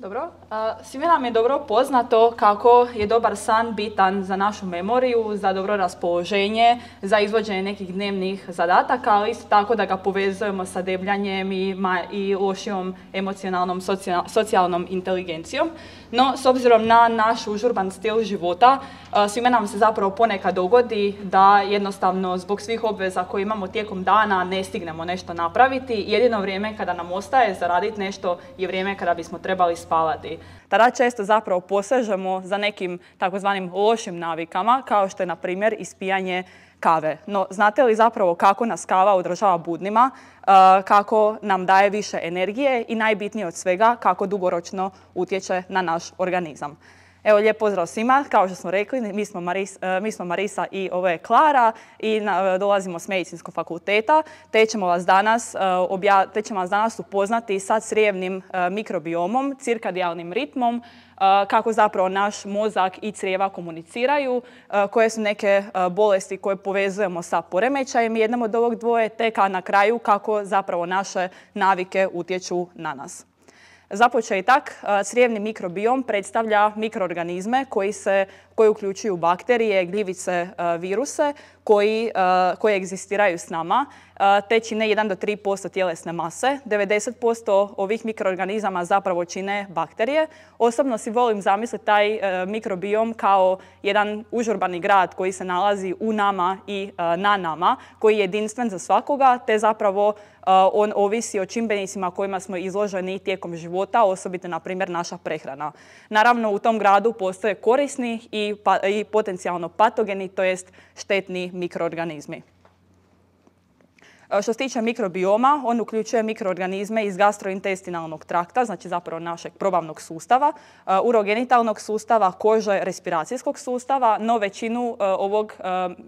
Dobro. Svima nam je dobro poznato kako je dobar san bitan za našu memoriju, za dobro raspoloženje, za izvođenje nekih dnevnih zadataka, ali isto tako da ga povezujemo sa debljanjem i lošijom emocionalnom, socijalnom inteligencijom. No, s obzirom na naš užurban stil života, svima nam se zapravo ponekad dogodi da jednostavno zbog svih obveza koje imamo tijekom dana ne stignemo nešto napraviti. Jedino vrijeme kada nam ostaje za raditi nešto je vrijeme kada bismo trebali spavati. Tada često zapravo posežemo za nekim takozvanim lošim navikama, kao što je na primjer ispijanje kave. No, znate li zapravo kako nas kava održava budnima, kako nam daje više energije i najbitnije od svega kako dugoročno utječe na naš organizam? Evo, lijep pozdrav svima. Kao što smo rekli, mi smo Marisa i ovo je Klara i dolazimo s Medicinskog fakulteta, te ćemo vas danas upoznati sa crijevnim mikrobiomom, cirkadijalnim ritmom, kako zapravo naš mozak i crijeva komuniciraju, koje su neke bolesti koje povezujemo sa poremećajem jednom od ovog dvoje, te na kraju kako zapravo naše navike utječu na nas. Za početak, crijevni mikrobiom predstavlja mikroorganizme koji uključuju bakterije, gljivice, viruse koji egzistiraju s nama, te čine 1 do 3% tjelesne mase. 90% ovih mikroorganizama zapravo čine bakterije. Osobno si volim zamisliti taj mikrobiom kao jedan užurbani grad koji se nalazi u nama i na nama, koji je jedinstven za svakoga, te zapravo on ovisi o čimbenicima kojima smo izloženi tijekom života, osobito, na primjer, naša prehrana. Naravno, u tom gradu postoje korisni i potencijalno patogeni, to jest štetni mikroorganizmi. Što se tiče mikrobioma, on uključuje mikroorganizme iz gastrointestinalnog trakta, znači zapravo našeg probavnog sustava, urogenitalnog sustava, kože, respiracijskog sustava,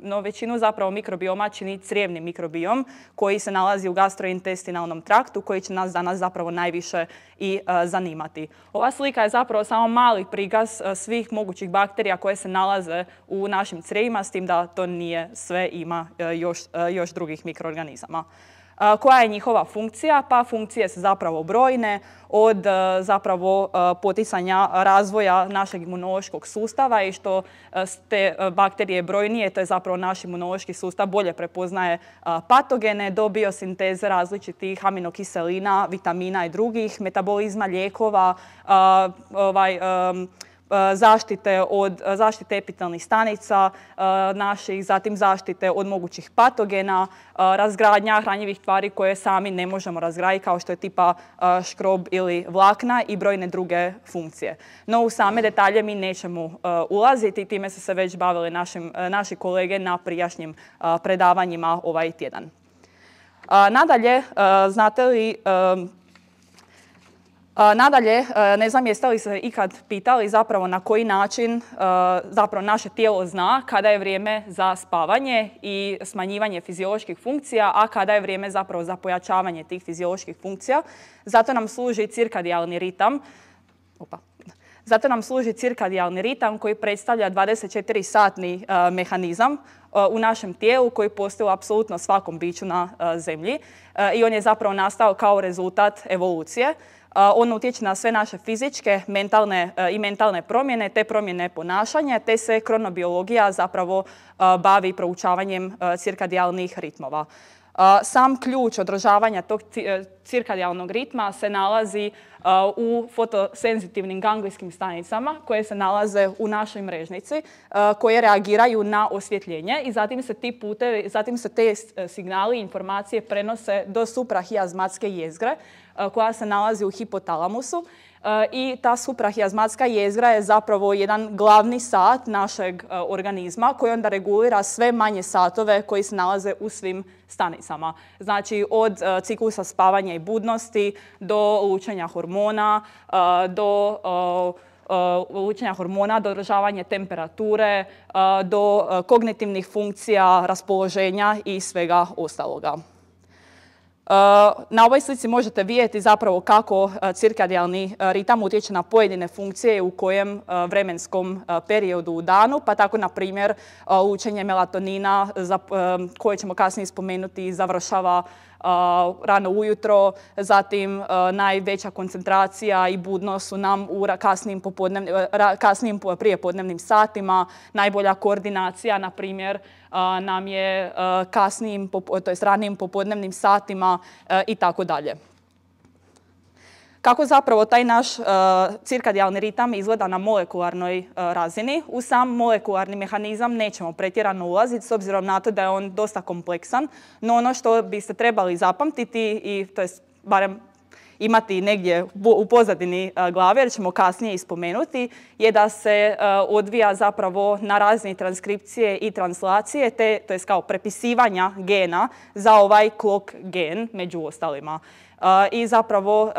no većinu zapravo mikrobioma čini crijevni mikrobiom koji se nalazi u gastrointestinalnom traktu, koji će nas danas zapravo najviše i zanimati. Ova slika je zapravo samo mali prikaz svih mogućih bakterija koje se nalaze u našim crijevima, s tim da to nije sve, ima još drugih mikroorganizama. Koja je njihova funkcija? Pa funkcije su zapravo brojne, od zapravo poticanja razvoja našeg imunološkog sustava i što te bakterije brojnije, to je zapravo naš imunološki sustav bolje prepoznaje patogene, do biosinteze različitih aminokiselina, vitamina i drugih, metabolizma lijekova, zaštite epitelnih stanica naših, zatim zaštite od mogućih patogena, razgradnja hranjivih tvari koje sami ne možemo razgraditi, kao što je tipa škrob ili vlakna i brojne druge funkcije. No, u same detalje mi nećemo ulaziti, time su se već bavili naši kolege na prijašnjim predavanjima ovaj tjedan. Nadalje, ne znam jeste li se ikad pitali zapravo na koji način zapravo naše tijelo zna kada je vrijeme za spavanje i smanjivanje fizioloških funkcija, a kada je vrijeme zapravo za pojačavanje tih fizioloških funkcija. Zato nam služi cirkadijalni ritam. Koji predstavlja 24-satni mehanizam u našem tijelu koji postoji u apsolutno svakom biću na Zemlji i on je zapravo nastao kao rezultat evolucije. On utječe na sve naše fizičke i mentalne promjene, te promjene ponašanja, te se kronobiologija zapravo bavi proučavanjem cirkadijalnih ritmova. Sam ključ održavanja tog cirkadijalnog ritma se nalazi u fotosenzitivnim ganglijskim stanicama koje se nalaze u našoj mrežnici, koje reagiraju na osvjetljenje i zatim se te signali i informacije prenose do suprahijazmatske jezgre koja se nalazi u hipotalamusu. I ta suprahijazmatska jezgra je zapravo jedan glavni sat našeg organizma koji onda regulira sve manje satove koji se nalaze u svim stanicama. Znači, od ciklusa spavanja i budnosti do lučenja hormona, do održavanja temperature, do kognitivnih funkcija, raspoloženja i svega ostaloga. Na ovoj slici možete vidjeti zapravo kako cirkadijalni ritam utječe na pojedine funkcije u kojem vremenskom periodu u danu, pa tako na primjer lučenje melatonina koje ćemo kasnije spomenuti završava rano ujutro, zatim najveća koncentracija i budnost su nam u kasnijim prijepodnevnim satima, najbolja koordinacija, na primjer, nam je ranijim popodnevnim satima i tako dalje. Kako zapravo taj naš cirkadijalni ritam izgleda na molekularnoj razini? U sam molekularni mehanizam nećemo pretjerano ulaziti s obzirom na to da je on dosta kompleksan, no ono što biste trebali zapamtiti i to jest barem imati negdje u pozadini glave, jer ćemo kasnije ispomenuti, je da se odvija zapravo na razini transkripcije i translacije, to jest kao prepisivanja gena za ovaj clock gen među ostalima. I zapravo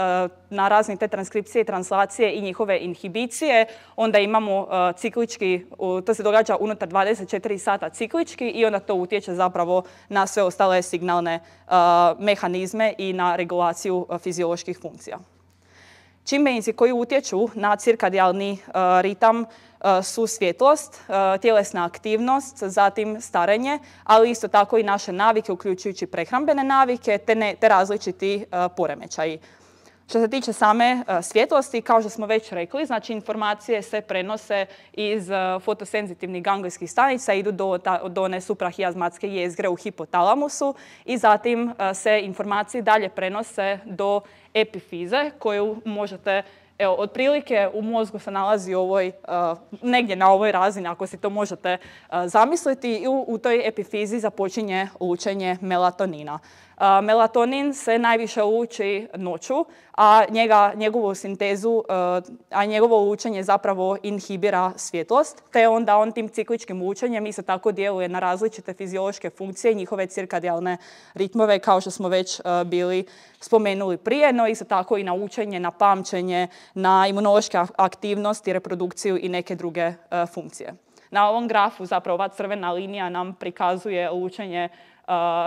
na razini te transkripcije i translacije i njihove inhibicije onda imamo ciklički, to se događa unutar 24 sata ciklički i onda to utječe zapravo na sve ostale signalne mehanizme i na regulaciju fizioloških funkcija. Čimbenici koji utječu na cirkadijalni ritam su svjetlost, tjelesna aktivnost, zatim starenje, ali isto tako i naše navike, uključujući prehrambene navike, te različiti poremećaji. Što se tiče same svjetlosti, kao što smo već rekli, znači informacije se prenose iz fotosenzitivnih ganglijskih stanica, idu do one suprahiazmatske jezgre u hipotalamusu i zatim se informacije dalje prenose do epifize koju možete, evo, otprilike u mozgu se nalazi negdje na ovoj razini, ako si to možete zamisliti, i u toj epifizi započinje lučenje melatonina. Melatonin se najviše luči noću, a njegovu sintezu, a njegovo lučenje zapravo inhibira svjetlost, te onda on tim cikličkim lučenjem isto tako djeluje na različite fiziološke funkcije i njihove cirkadijalne ritmove, kao što smo već bili spomenuli prije, no isto tako i na učenje, na pamćenje, na imunološke aktivnosti, reprodukciju i neke druge funkcije. Na ovom grafu zapravo ova crvena linija nam prikazuje lučenje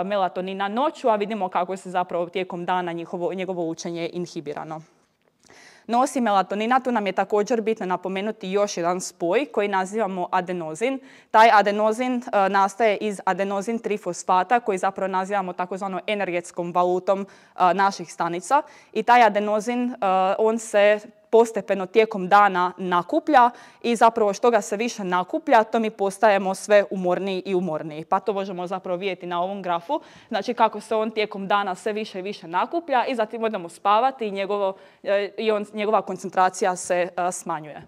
melatonina noću, a vidimo kako se zapravo tijekom dana njegovo učenje inhibirano. No, osim melatonina, tu nam je također bitno napomenuti još jedan spoj koji nazivamo adenozin. Taj adenozin nastaje iz adenozin trifosfata koji zapravo nazivamo takozvanom energetskom valutom naših stanica. I taj adenozin, on se postepeno tijekom dana nakuplja i zapravo što ga se više nakuplja, to mi postajemo sve umorniji i umorniji. Pa to možemo zapravo vidjeti na ovom grafu. Znači kako se on tijekom dana sve više i više nakuplja i zatim odemo spavati i njegova koncentracija se smanjuje.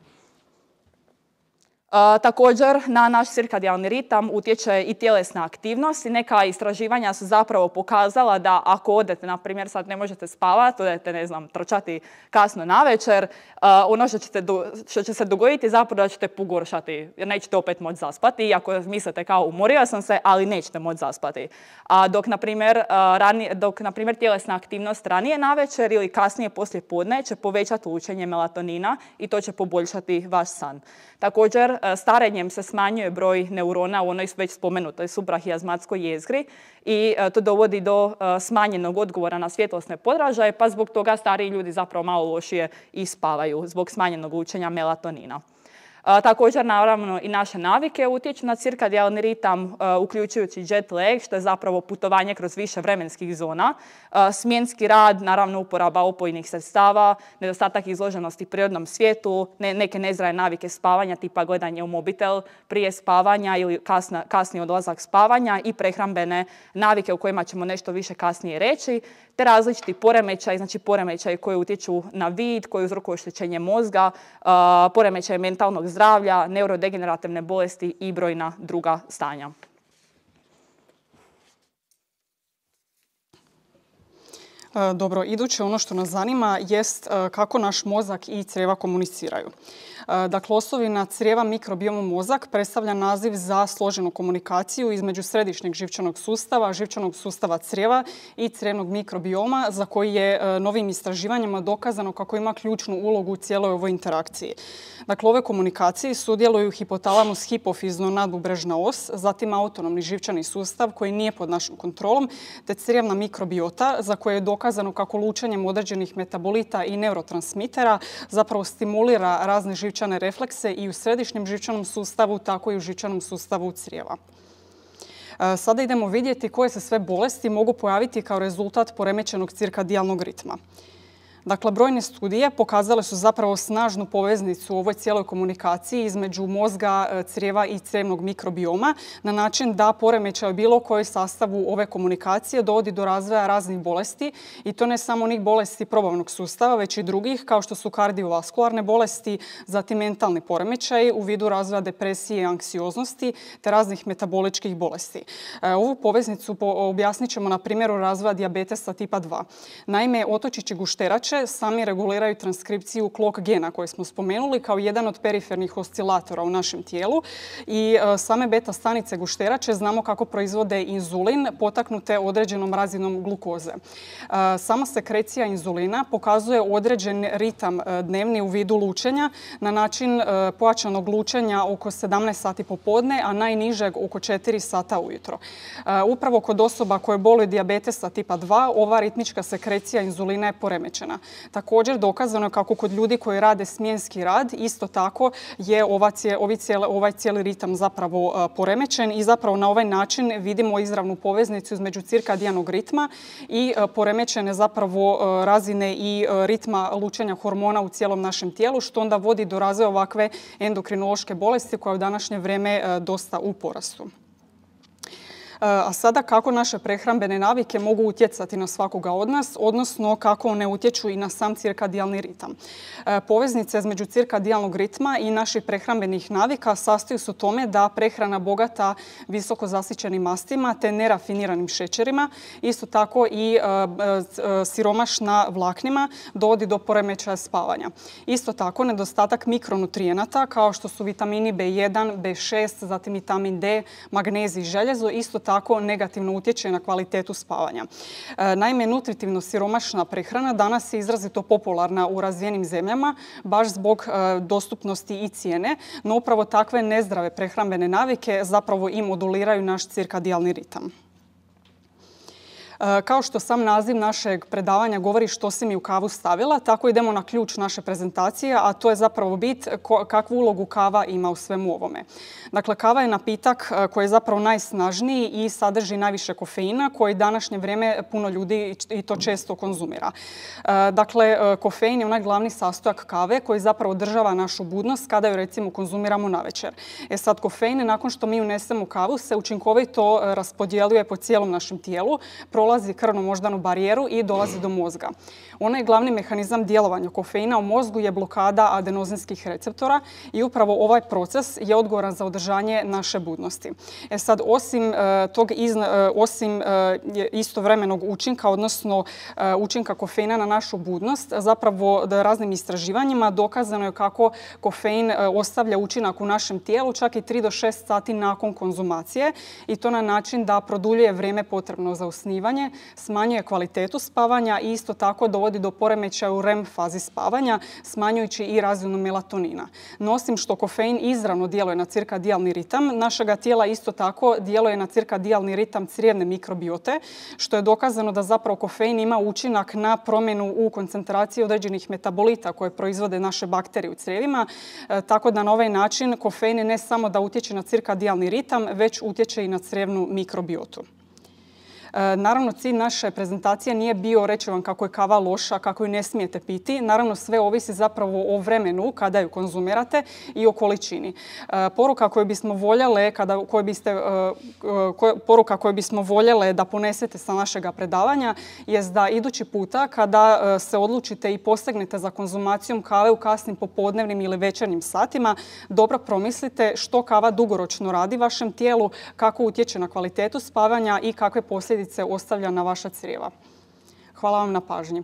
Također na naš cirkadijalni ritam utječe i tjelesna aktivnost i neka istraživanja su zapravo pokazala da ako odete, na primjer sad ne možete spavati, odete, ne znam, trčati kasno navečer, ono što će se dogoditi zapravo da ćete pogoršati jer nećete opet moći zaspati, iako mislite kao umorio sam se, ali nećete moći zaspati. Dok na primjer tjelesna aktivnost ranije navečer ili kasnije poslije podne će povećati lučenje melatonina i to će poboljšati vaš san. Također, starenjem se smanjuje broj neurona u onoj već spomenutoj suprahiazmatskoj jezgri i to dovodi do smanjenog odgovora na svjetlosne podražaje, pa zbog toga stariji ljudi zapravo malo lošije i spavaju zbog smanjenog lučenja melatonina. Također, naravno, i naše navike utječu na cirkadijalni ritam, uključujući jet lag, što je zapravo putovanje kroz više vremenskih zona, smjenski rad, naravno uporaba opojnih sredstava, nedostatak izloženosti prirodnom svijetu, neke nezdrave navike spavanja, tipa gledanje u mobitel prije spavanja ili kasni odlazak spavanja i prehrambene navike o kojima ćemo nešto više kasnije reći, te različiti poremećaji, znači poremećaji koji utječu na vid, koji uzrokuju oštećenje mozga, poremećaje mentalnog zdravlja, neurodegenerativne bolesti i brojna druga stanja. Dobro, iduće ono što nas zanima jest kako naš mozak i crijeva komuniciraju. Dakle, osovina crijeva mikrobioma mozak predstavlja naziv za složenu komunikaciju između središnjeg živčanog sustava crijeva i crijevnog mikrobioma za koji je novim istraživanjima dokazano kako ima ključnu ulogu u cijeloj ovoj interakciji. Dakle, u ovoj komunikaciji sudjeluju hipotalamus, hipofizno nadbubrežna os, zatim autonomni živčani sustav koji nije pod našom kontrolom, te crijevna mikrobiota za koje je dokazano kako lučenjem određenih metabolita i neurotransmitera zapravo stimulira razne živčane reflekse i u središnjem živčanom sustavu, tako i u živčanom sustavu crijeva. Sada idemo vidjeti koje se sve bolesti mogu pojaviti kao rezultat poremećenog cirkadijalnog ritma. Dakle, brojne studije pokazale su zapravo snažnu poveznicu u ovoj cijeloj komunikaciji između mozga, crijeva i crijevnog mikrobioma na način da poremećaj bilo kojoj sastavu ove komunikacije dovodi do razvoja raznih bolesti i to ne samo onih bolesti probavnog sustava, već i drugih kao što su kardiovaskularne bolesti, zatim mentalni poremećaj u vidu razvoja depresije i anksioznosti te raznih metaboličkih bolesti. Ovu poveznicu objasnit ćemo na primjeru razvoja dijabetesa tipa 2. Naime, otočići gušterače sami reguliraju transkripciju clock gena koje smo spomenuli kao jedan od perifernih oscilatora u našem tijelu i same beta stanice gušterače znamo kako proizvode inzulin potaknute određenom razinom glukoze. Sama sekrecija inzulina pokazuje određen ritam dnevni u vidu lučenja na način pojačanog lučenja oko 17 sati popodne, a najnižeg oko 4 sata ujutro. Upravo kod osoba koje boluju dijabetesa tipa 2 ova ritmička sekrecija inzulina je poremećena. Također dokazano je kako kod ljudi koji rade smjenski rad isto tako je ovaj cijeli ritam zapravo poremećen i zapravo na ovaj način vidimo izravnu poveznicu između cirkadijanog ritma i poremećene zapravo razine i ritma lučenja hormona u cijelom našem tijelu što onda vodi do razvoja ovakve endokrinološke bolesti koja je u današnje vrijeme dosta u porastu. A sada kako naše prehrambene navike mogu utjecati na svakoga od nas, odnosno kako one utječu i na sam cirkadijalni ritam. Poveznica između cirkadijalnog ritma i naših prehrambenih navika sastoji se u tome da prehrana bogata visoko zasićenim mastima te nerafiniranim šećerima, isto tako i siromašna vlaknima dovodi do poremećaja spavanja. Isto tako nedostatak mikronutrijenata kao što su vitamini B1, B6, zatim vitamin D, magnezij i željezo isto tako negativno utječe na kvalitetu spavanja. Naime, nutritivno siromašna prehrana danas je izrazito popularna u razvijenim zemljama baš zbog dostupnosti i cijene, no upravo takve nezdrave prehrambene navike zapravo i moduliraju naš cirkadijalni ritam. Kao što sam naziv našeg predavanja govori što si mi u kavu stavila, tako idemo na ključ naše prezentacije, a to je zapravo bit kakvu ulogu kava ima u svemu ovome. Dakle, kava je napitak koji je zapravo najsnažniji i sadrži najviše kofeina koji današnje vrijeme puno ljudi i to često konzumira. Dakle, kofein je onaj glavni sastojak kave koji zapravo održava našu budnost kada ju recimo konzumiramo navečer. Sad, kofein nakon što mi unesemo kavu se učinkovito raspodjeljuje po cijelom našem tijelu, prolazi krvno-moždanu barijeru i dolazi do mozga. Onaj glavni mehanizam djelovanja kofeina u mozgu je blokada adenozinskih receptora i upravo ovaj proces je odgovoran za održanje naše budnosti. Sad, osim istovremenog učinka, odnosno učinka kofeina na našu budnost, zapravo raznim istraživanjima dokazano je kako kofein ostavlja učinak u našem tijelu čak i 3 do 6 sati nakon konzumacije i to na način da produljuje vrijeme potrebno za usnivanje, smanjuje kvalitetu spavanja i isto tako dovodi do poremećaja u REM fazi spavanja, smanjujući i razinu melatonina. No, osim što kofein izravno djeluje na cirkadijalni ritam, našega tijela isto tako djeluje na cirkadijalni ritam crijevne mikrobiote, što je dokazano da zapravo kofein ima učinak na promjenu u koncentraciji određenih metabolita koje proizvode naše bakterije u crijevima, tako da na ovaj način kofein ne samo da utječe na cirkadijalni ritam, već utječe i na crijevnu mikrobiotu. Naravno, cilj naše prezentacije nije bio reći vam kako je kava loša, kako ju ne smijete piti. Naravno, sve ovisi zapravo o vremenu kada ju konzumirate i o količini. Poruka koju bismo voljele da ponesete sa našega predavanja je da idući puta kada se odlučite i posegnete za konzumacijom kave u kasnim popodnevnim ili večernjim satima, dobro promislite što kava dugoročno radi vašem tijelu, kako utječe na kvalitetu spavanja i kakve posljedice ostavlja na vaša crijeva. Hvala vam na pažnji.